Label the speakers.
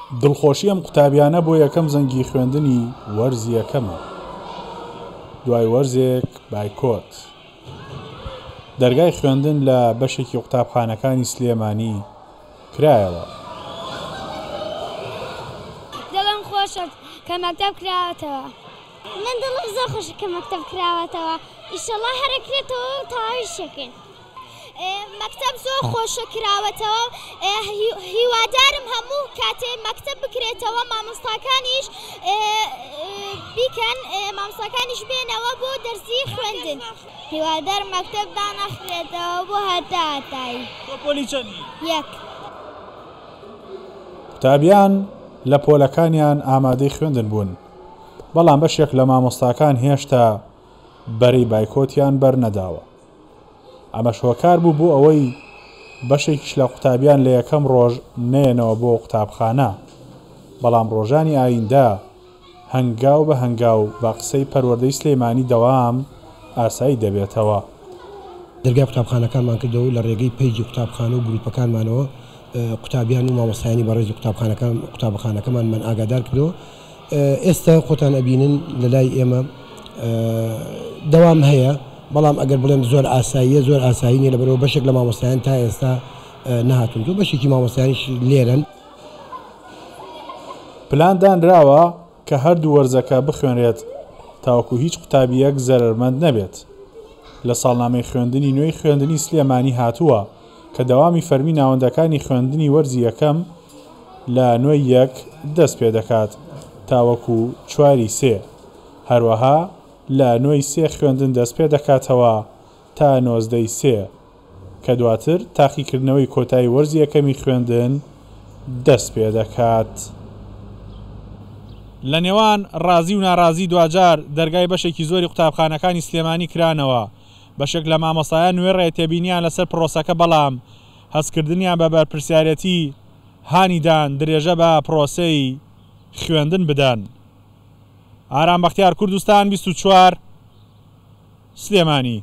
Speaker 1: دڵخۆشی ئەم قوتابیانە بۆ یەکەم زەنگی خوێندنی وەرزی یەکەمە دوای وەرزێک بایکۆت. دەرگای خوێندن لە بەشێکی قوتابخانەکانی سلێمانی کرایەوە.
Speaker 2: دڵم خۆشە کە مەکتەب کراوەتەوە. من دڵم زۆر خۆشە کە مەکتەب کراوەتەوە ئیشەڵا هەر ئەکرێتەوە و تەواویش ئەکەین. مەکتەب زۆر خۆشە کراوەتەوە هیوادارم هەموو کاتێ مەکتەب بکرێتەوە مامۆستاکانیش بیکەن مامۆستاکانیش بێنەوە بۆ دەرسی خوێندن. هیوادارم مەکتەب دانەخرێتەوە بۆ هەتا هەتایی.
Speaker 1: تۆ پۆلی چەندی؟
Speaker 2: یەک.
Speaker 1: قوتابیان لە پۆلەکانیان ئامادەی خوێندن بوون، بەڵام بەشێک لە مامۆستاکان هێشتا بەرەی بایکۆتیان بەرنەداوە. ئەمەش هۆکار بوو بۆ ئەوەی بەشێکیش لە قوتابیان لە یەکەم ڕۆژ نەیەنەوە بۆ قوتابخانە، بەڵام ڕۆژانی ئایندە هەنگاو بە هەنگاو بە قسەی پەروەردەی سلێمانی دەوام ئاسایی دەبێتەوە.
Speaker 3: دەرگای قوتابخانەکانمان کردەوە و لە ڕێگەی پەیجی قوتابخانە و گروپەکانمانەوە قوتابیان و مامۆستایانی بەڕێزی قوتابخانەکان قوتابخانەکەمانمان ئاگادار کردەوە. ئێستا خۆتان ئەبینن لە لای ئێمە دەوام هەیە، بەڵام ئەگەر بڵێم زۆر ئاساییە زۆر ئاسایی نیە لەبەرئەوە بەشێک لە مامۆستایان تا ئێستا نەهاتوون و بەشێکی مامۆستایانیش لێرەن.
Speaker 1: پلان دانراوە کە هەردوو وەرزەکە بخوێنرێت تاوەکو هیچ قوتابییەک زەرەرمەند نەبێت. لە ساڵنامەی خوێندنی نوێی خوێندنی سلێمانی هاتووە کە دەوامی فەرمی ناوەندەکانی خوێندنی وەرزی یەکەم لە نۆی یەک دەست پێدەکات تاوەکو چواری سێ، هەروەها لە نۆی سێ خوێندن دەست پێدەکاتەوە تا نۆزدەی سێ کە دواتر تاقیکردنەوەی کۆتایی وەرزی یەکەمی خوێندن دەست پێدەکات. لە نێوان ڕازی و ناڕازی دواجار دەرگای بەشێکی زۆری قوتابخانەکانی سلێمانی کرانەوە، بەشێک لە مامۆستایان وێڕای تێبینیان لەسەر پرۆسەکە بەڵام هەستکردنیان بە بەرپرسیارێتی هانی دان درێژە بە پرۆسەی خوێندن بدەن. ئارام بەختیار، کوردستان 24، سلێمانی.